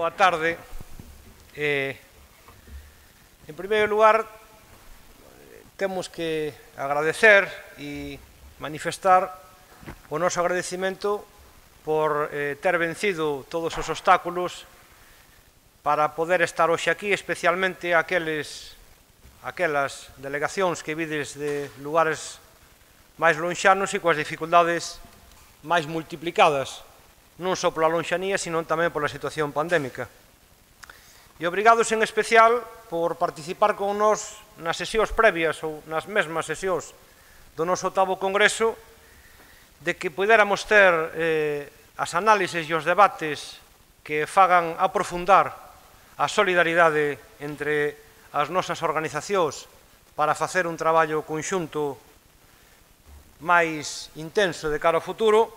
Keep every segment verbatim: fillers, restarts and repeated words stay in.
boa tarde. Eh, en primeiro lugar, temos que agradecer e manifestar o noso agradecimento por eh, ter vencido todos os obstáculos para poder estar hoxe aquí, especialmente aqueles, aquelas delegacións que vides de lugares máis lonxanos e coas dificultades máis multiplicadas, non só pola lonxanía, sino tamén pola situación pandémica. E obrigados en especial por participar con nós nas sesións previas ou nas mesmas sesións do noso oitavo Congreso, de que puidéramos ter eh, as análises e os debates que fagan aprofundar a solidaridade entre as nosas organizacións para facer un traballo conxunto máis intenso de cara ao futuro,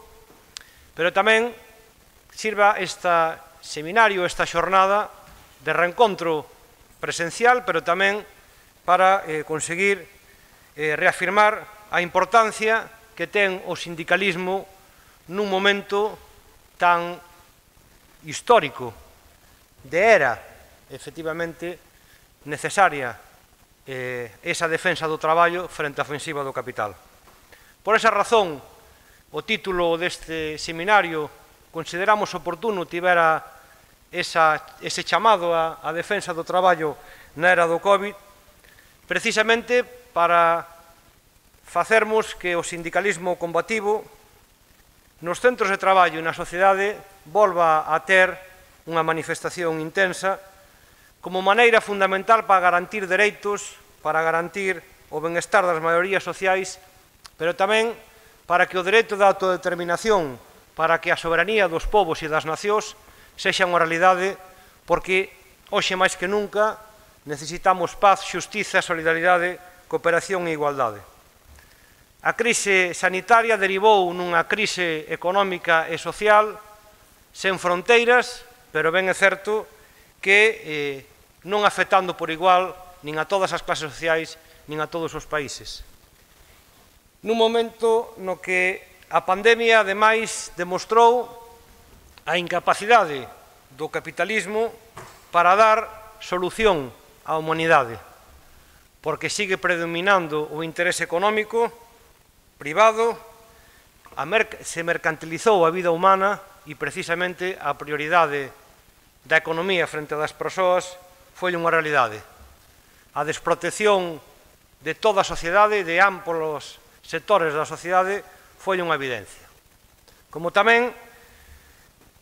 pero tamén sirva este seminario, esta xornada de reencontro presencial, pero tamén para eh, conseguir eh, reafirmar a importancia que ten o sindicalismo nun momento tan histórico de era, efectivamente, necesaria eh, esa defensa do traballo frente á ofensiva do capital. Por esa razón, o título deste seminario consideramos oportuno tivera esa, ese chamado á, á defensa do traballo na era do COVID, precisamente para facermos que o sindicalismo combativo nos centros de traballo e na sociedade volva a ter unha manifestación intensa como maneira fundamental para garantir dereitos, para garantir o benestar das maiorías sociais, pero tamén para que o dereito da autodeterminación, para que a soberanía dos povos e das nacións sexa unha realidade, porque hoxe máis que nunca necesitamos paz, xustiza, solidaridade, cooperación e igualdade. A crise sanitaria derivou nunha crise económica e social sen fronteiras, pero ben é certo que eh, non afectando por igual nin a todas as clases sociais nin a todos os países. Nun momento no que a pandemia, ademais, demostrou a incapacidade do capitalismo para dar solución á humanidade, porque sigue predominando o interese económico privado, se mercantilizou a vida humana e precisamente a prioridade da economía frente das persoas foi unha realidade. A desprotección de toda a sociedade, de amplos sectores da sociedade, foi unha evidencia. Como tamén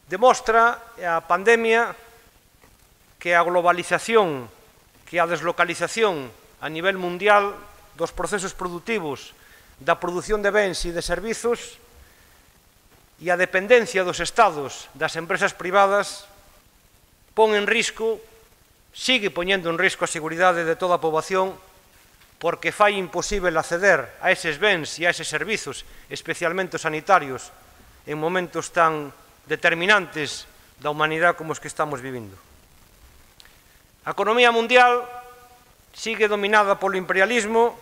demostra a pandemia que a globalización, que a deslocalización a nivel mundial dos procesos produtivos, da produción de bens e de servizos e a dependencia dos estados das empresas privadas pon en risco, sigue poñendo en risco a seguridade de toda a poboación, porque fai imposible acceder a eses bens e a eses servizos, especialmente os sanitarios, en momentos tan determinantes da humanidade como os que estamos vivindo. A economía mundial sigue dominada polo imperialismo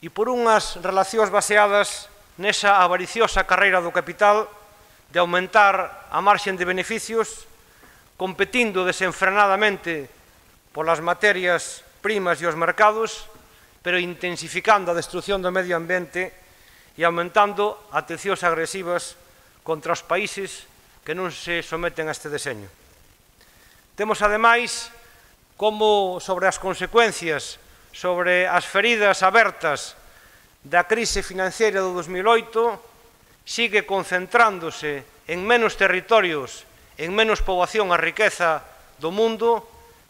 e por unhas relacións baseadas nesa avariciosa carreira do capital de aumentar a marxen de beneficios, competindo desenfrenadamente polas materias primas e os mercados, pero intensificando a destrucción do medio ambiente e aumentando atencións agresivas contra os países que non se someten a este deseño. Temos, ademais, como sobre as consecuencias, sobre as feridas abertas da crise financiera do dos mil oito, sigue concentrándose en menos territorios, en menos poboación a riqueza do mundo,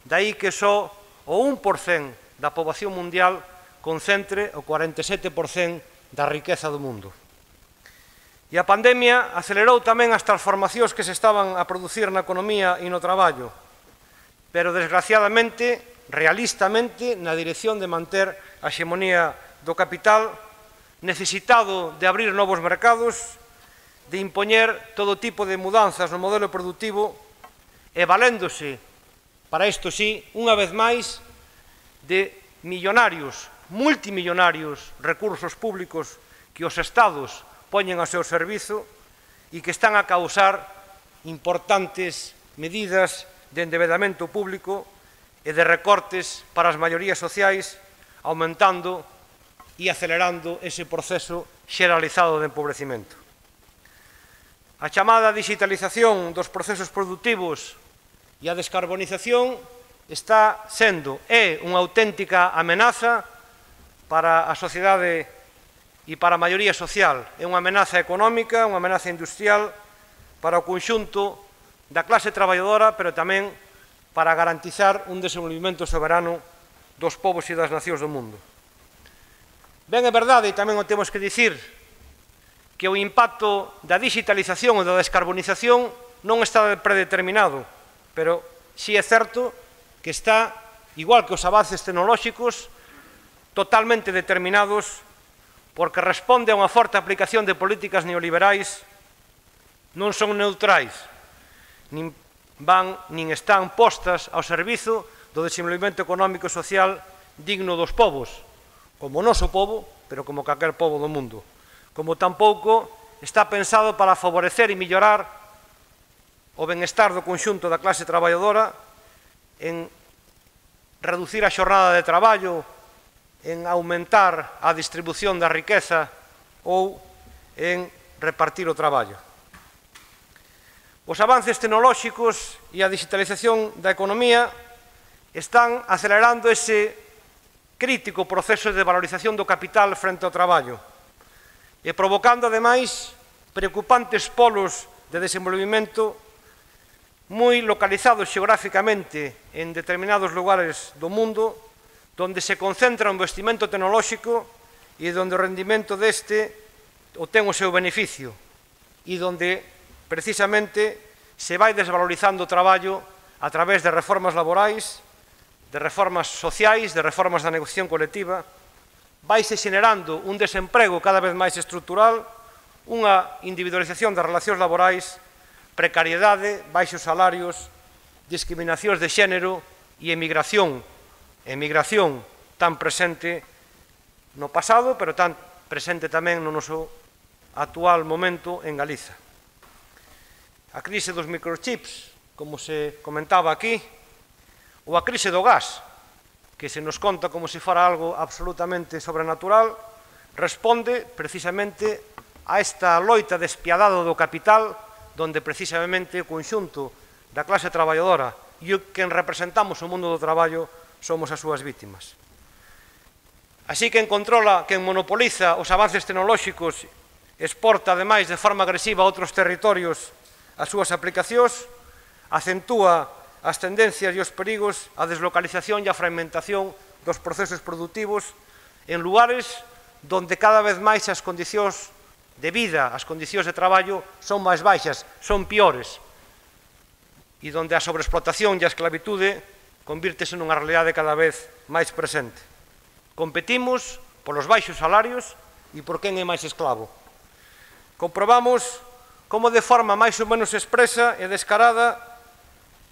dai que só o un por cento da poboación mundial concentre o cuarenta e sete por cento da riqueza do mundo. E a pandemia acelerou tamén as transformacións que se estaban a producir na economía e no traballo, pero desgraciadamente, realistamente, na dirección de manter a hexemonía do capital, necesitado de abrir novos mercados, de impoñer todo tipo de mudanzas no modelo productivo e valéndose, para isto sí, unha vez máis, de millonarios, multimillonarios recursos públicos que os estados poñen ao seu servizo e que están a causar importantes medidas de endebedamento público e de recortes para as maiorías sociais, aumentando e acelerando ese proceso xeralizado de empobrecimento. A chamada digitalización dos procesos produtivos e a descarbonización está sendo, é unha auténtica amenaza para a sociedade e para a maioría social. É unha amenaza económica, unha amenaza industrial para o conxunto da clase traballadora, pero tamén para garantizar un desenvolvemento soberano dos povos e das nacións do mundo. Ben, é verdade, e tamén o temos que dicir, que o impacto da digitalización e da descarbonización non está predeterminado, pero si é certo que está, igual que os avances tecnolóxicos, totalmente determinados porque responde a unha forte aplicación de políticas neoliberais, non son neutrais, nin van nin están postas ao servizo do desenvolvemento económico e social digno dos povos, como o noso povo, pero como calquer povo do mundo. Como tampouco está pensado para favorecer e mellorar o benestar do conxunto da clase traballadora en reducir a xornada de traballo, en aumentar a distribución da riqueza ou en repartir o traballo. Os avances tecnolóxicos e a digitalización da economía están acelerando ese crítico proceso de valorización do capital frente ao traballo e provocando, ademais, preocupantes polos de desenvolvemento moi localizados xeográficamente en determinados lugares do mundo, donde se concentra o investimento tecnolóxico e donde o rendimento deste obtén o seu beneficio e donde, precisamente, se vai desvalorizando o traballo a través de reformas laborais, de reformas sociais, de reformas da negociación colectiva, vaise xenerando un desemprego cada vez máis estrutural, unha individualización das relacións laborais, precariedade, baixos salarios, discriminacións de xénero e emigración, emigración tan presente no pasado, pero tan presente tamén no noso actual momento en Galiza. A crise dos microchips, como se comentaba aquí, ou a crise do gas, que se nos conta como se fora algo absolutamente sobrenatural, responde precisamente a esta loita despiadada do capital, donde precisamente o conxunto da clase traballadora e o que representamos o mundo do traballo somos as súas vítimas. Así que quen controla, quen monopoliza os avances tecnolóxicos, exporta ademais de forma agresiva a outros territorios as súas aplicacións, acentúa as tendencias e os perigos, a deslocalización e a fragmentación dos procesos produtivos en lugares donde cada vez máis as condicións de vida, as condicións de traballo son máis baixas, son piores, e donde a sobreexplotación e a esclavitude convírtese nunha realidade cada vez máis presente. Competimos polos baixos salarios e por quen é máis esclavo. Comprobamos como de forma máis ou menos expresa e descarada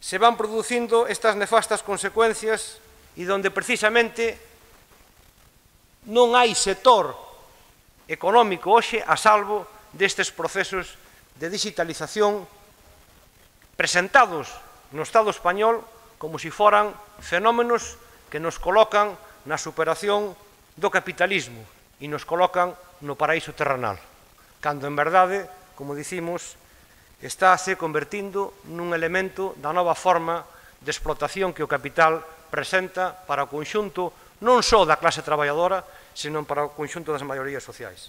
se van producindo estas nefastas consecuencias e donde precisamente non hai sector económico hoxe a salvo destes procesos de digitalización presentados no Estado español como se foran fenómenos que nos colocan na superación do capitalismo e nos colocan no paraíso terrenal, cando en verdade, como dicimos, está se convertindo nun elemento da nova forma de explotación que o capital presenta para o conxunto non só da clase traballadora, senón para o conxunto das maiorías sociais.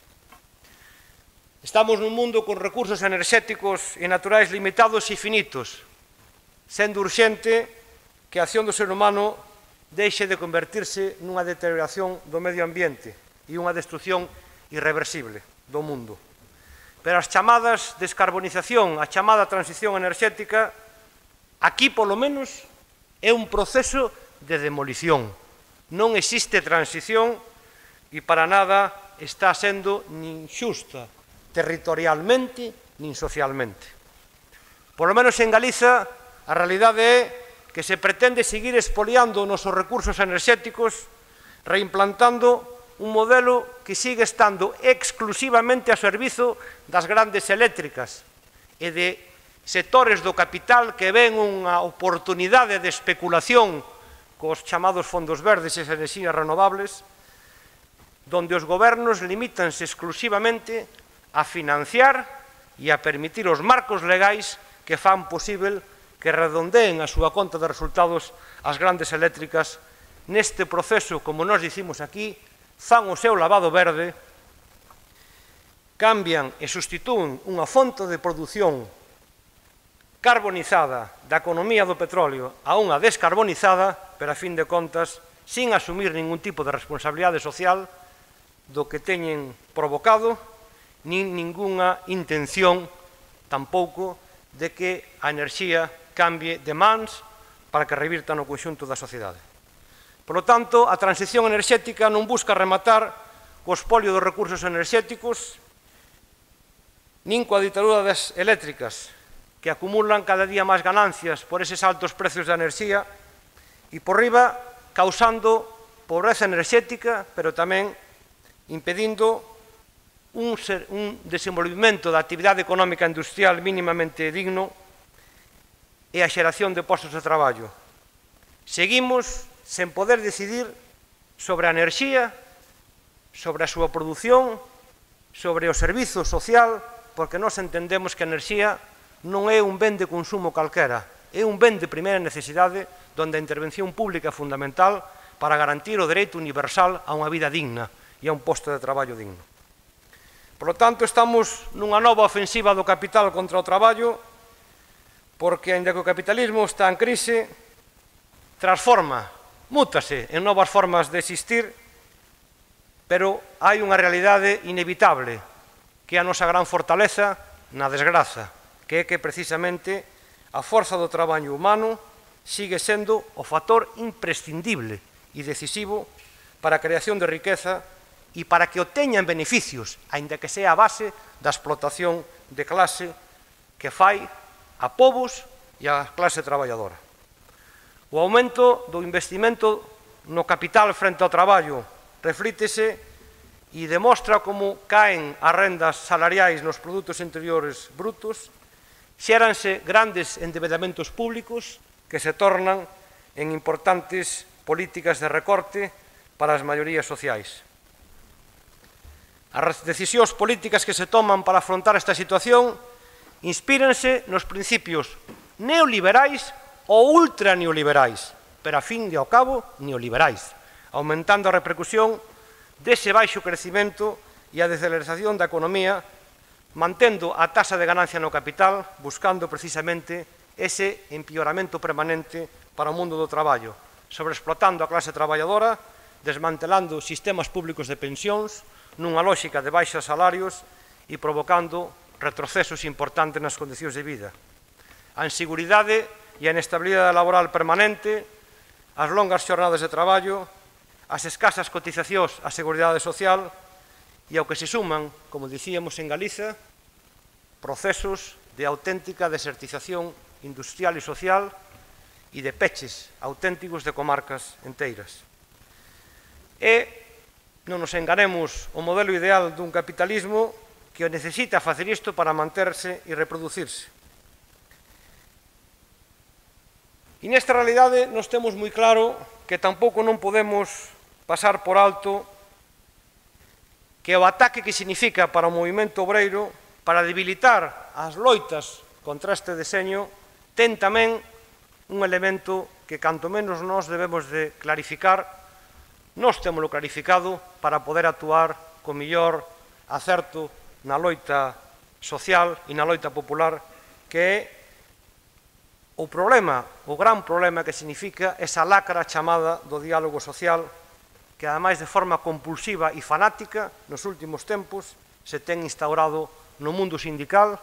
Estamos nun mundo con recursos enerxéticos e naturais limitados e finitos, sendo urxente que a acción do ser humano deixe de convertirse nunha deterioración do medio ambiente e unha destrucción irreversible do mundo. Pero as chamadas descarbonización, a chamada transición enerxética, aquí, polo menos, é un proceso de demolición. Non existe transición e para nada está sendo nin xusta territorialmente nin socialmente. Por lo menos en Galiza, a realidade é que se pretende seguir expoliando os nosos recursos enerxéticos, reimplantando un modelo que sigue estando exclusivamente a servizo das grandes eléctricas e de sectores do capital que ven unha oportunidade de especulación cos chamados fondos verdes e as enerxías renovables, donde os gobernos limítanse exclusivamente a financiar e a permitir os marcos legais que fan posible que redondeen a súa conta de resultados as grandes eléctricas neste proceso, como nos dicimos aquí, fan o seu lavado verde, cambian e sustitúen unha fonte de produción carbonizada da economía do petróleo a unha descarbonizada, pero a fin de contas, sin asumir ningún tipo de responsabilidade social do que teñen provocado, nin ningunha intención tampouco de que a enerxía cambie de mans para que revirta no conxunto da sociedade. Por lo tanto, a transición enerxética non busca rematar co espolio dos recursos enerxéticos nin coa ditadura das eléctricas, que acumulan cada día máis ganancias por eses altos precios da enerxía e por riba causando pobreza enerxética, pero tamén impedindo un, ser, un desenvolvimento da actividade económica industrial mínimamente digno e a xeración de postos de traballo. Seguimos sen poder decidir sobre a enerxía, sobre a súa produción, sobre o servizo social, porque nós entendemos que a enerxía non é un ben de consumo calquera, é un ben de primeira necesidade onde a intervención pública é fundamental para garantir o dereito universal a unha vida digna e a un posto de traballo digno. Por lo tanto, estamos nunha nova ofensiva do capital contra o traballo, porque, ainda que o capitalismo está en crise, transforma, mútase en novas formas de existir, pero hai unha realidade inevitable, que é a nosa gran fortaleza na desgraza, que é que precisamente a forza do traballo humano sigue sendo o factor imprescindible e decisivo para a creación de riqueza e para que obteñan beneficios, aínda que sea a base da explotación de clase que fai a povos e a clase traballadora. O aumento do investimento no capital frente ao traballo reflítese e demostra como caen as rendas salariais nos produtos interiores brutos, xéranse grandes endebedamentos públicos que se tornan en importantes políticas de recorte para as maiorías sociais. As decisións políticas que se toman para afrontar esta situación inspírense nos principios neoliberais ou ultraneoliberais, pero a fin de ao cabo neoliberais, aumentando a repercusión dese baixo crecimento e a deceleración da economía, mantendo a taxa de ganancia no capital, buscando precisamente ese empeoramento permanente para o mundo do traballo, sobreexplotando a clase traballadora, desmantelando sistemas públicos de pensións, nunha lógica de baixos salarios e provocando retrocesos importantes nas condicións de vida. A inseguridade e a inestabilidade laboral permanente, as longas xornadas de traballo, as escasas cotizacións á seguridade social e ao que se suman, como dicíamos en Galiza, procesos de auténtica desertización industrial e social e de peches auténticos de comarcas enteiras. E non nos enganemos, o modelo ideal dun capitalismo que necesita facer isto para manterse e reproducirse. E nesta realidade nos temos moi claro que tampouco non podemos pasar por alto que o ataque que significa para o movimento obreiro para debilitar as loitas contra este deseño ten tamén un elemento que canto menos nós debemos de clarificar, nós temoslo clarificado para poder actuar con mellor acerto na loita social e na loita popular, que é o problema, o gran problema que significa esa lacra chamada do diálogo social, que ademais de forma compulsiva e fanática nos últimos tempos se ten instaurado no mundo sindical,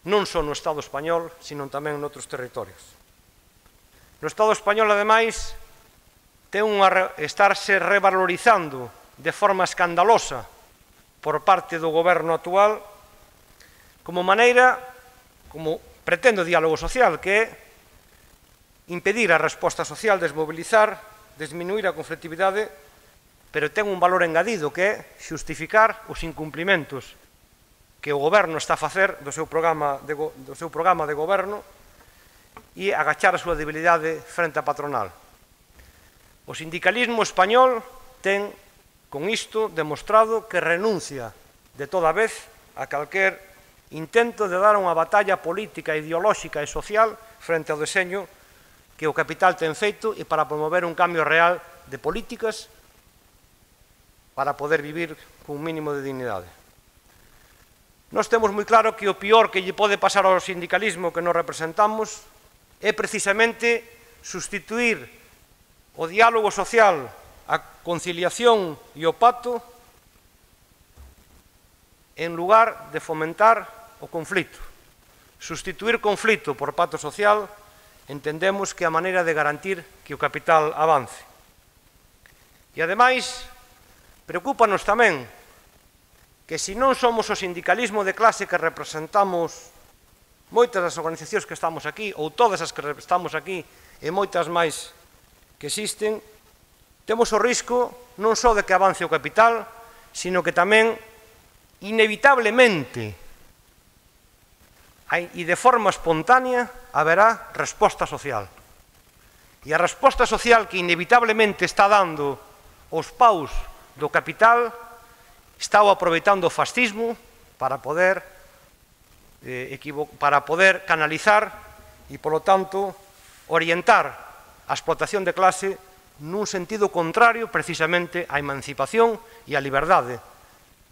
non só no Estado español, sino tamén noutros territorios. No Estado español, ademais, ten unha estarse revalorizando de forma escandalosa por parte do goberno actual como maneira, como pretende o diálogo social, que é impedir a resposta social, desmobilizar, disminuir a conflictividade, pero ten un valor engadido que é xustificar os incumplimentos que o goberno está a facer do seu programa de, do seu programa de goberno e agachar a súa debilidade frente á patronal. O sindicalismo español ten, con isto, demostrado que renuncia de toda vez a calquer intento de dar unha batalla política, ideolóxica e social frente ao deseño que o capital ten feito e para promover un cambio real de políticas para poder vivir cun mínimo de dignidade. Nós temos moi claro que o pior que lle pode pasar ao sindicalismo que nos representamos é precisamente sustituir o diálogo social, a conciliación e o pacto en lugar de fomentar o conflito. Sustituir conflito por pacto social entendemos que é a maneira de garantir que o capital avance. E, ademais, preocúpanos tamén que se non somos o sindicalismo de clase que representamos moitas das organizacións que estamos aquí, ou todas as que estamos aquí, e moitas máis que existen, temos o risco non só de que avance o capital, sino que tamén, inevitablemente, e de forma espontánea, haberá resposta social. E a resposta social que inevitablemente está dando os paus do capital está aproveitando o fascismo para poder, eh, para poder canalizar e, polo tanto, orientar a explotación de clase nun sentido contrario precisamente á emancipación e á liberdade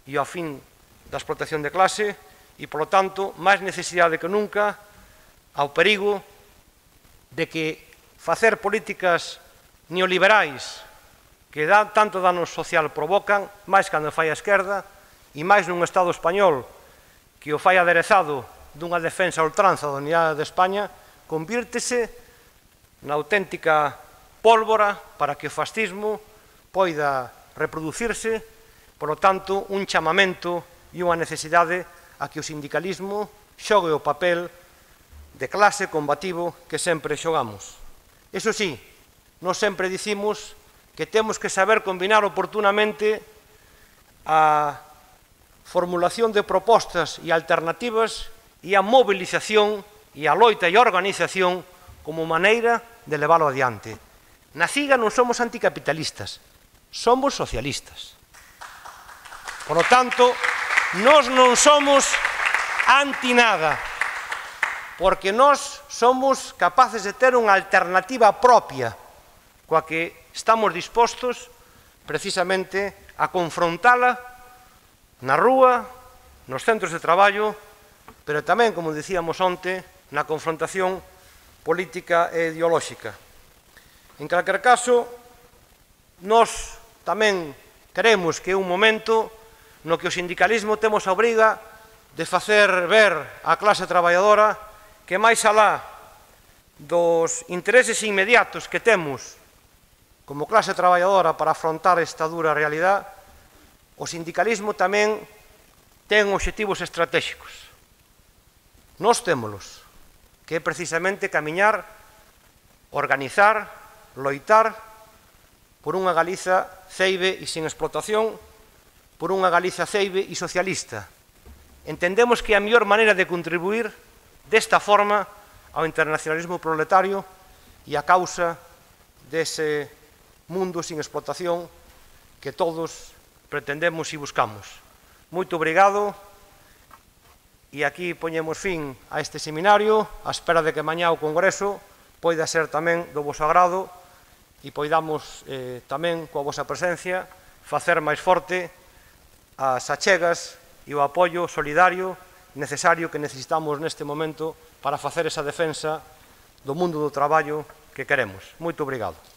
e ao fin da explotación de clase e, polo tanto, máis necesidade que nunca ao perigo de que facer políticas neoliberais que tanto dano social provocan, máis cando fai a esquerda, e máis nun Estado español que o fai aderezado dunha defensa a ultranza da unidade de España, convírtese na auténtica pólvora para que o fascismo poida reproducirse, por lo tanto, un chamamento e unha necesidade a que o sindicalismo xogue o papel de clase combativo que sempre xogamos. Iso sí, nós sempre dicimos que temos que saber combinar oportunamente a formulación de propostas e alternativas e a movilización e a loita e a organización como maneira de leválo adiante. Na CIGA non somos anticapitalistas, somos socialistas. Por lo tanto, nós non somos anti nada, porque nós somos capaces de ter unha alternativa propia coa que estamos dispostos precisamente a confrontala na rúa, nos centros de traballo, pero tamén, como dicíamos onte, na confrontación política e ideolóxica. En calquer caso, nós tamén queremos que é un momento no que o sindicalismo temos a obriga de facer ver á clase traballadora que máis alá dos intereses inmediatos que temos como clase traballadora para afrontar esta dura realidade, o sindicalismo tamén ten obxectivos estratégicos. Nós témolos, que é precisamente camiñar, organizar, loitar por unha Galiza ceibe e sin explotación, por unha Galiza ceibe e socialista. Entendemos que a mellor maneira de contribuir desta forma ao internacionalismo proletario e a causa dese mundo sin explotación que todos pretendemos e buscamos. Moito obrigado e aquí poñemos fin a este seminario á espera de que mañá o Congreso poida ser tamén do voso agrado e poidamos eh, tamén coa vosa presencia facer máis forte as achegas e o apoio solidario necesario que necesitamos neste momento para facer esa defensa do mundo do traballo que queremos. Moito obrigado.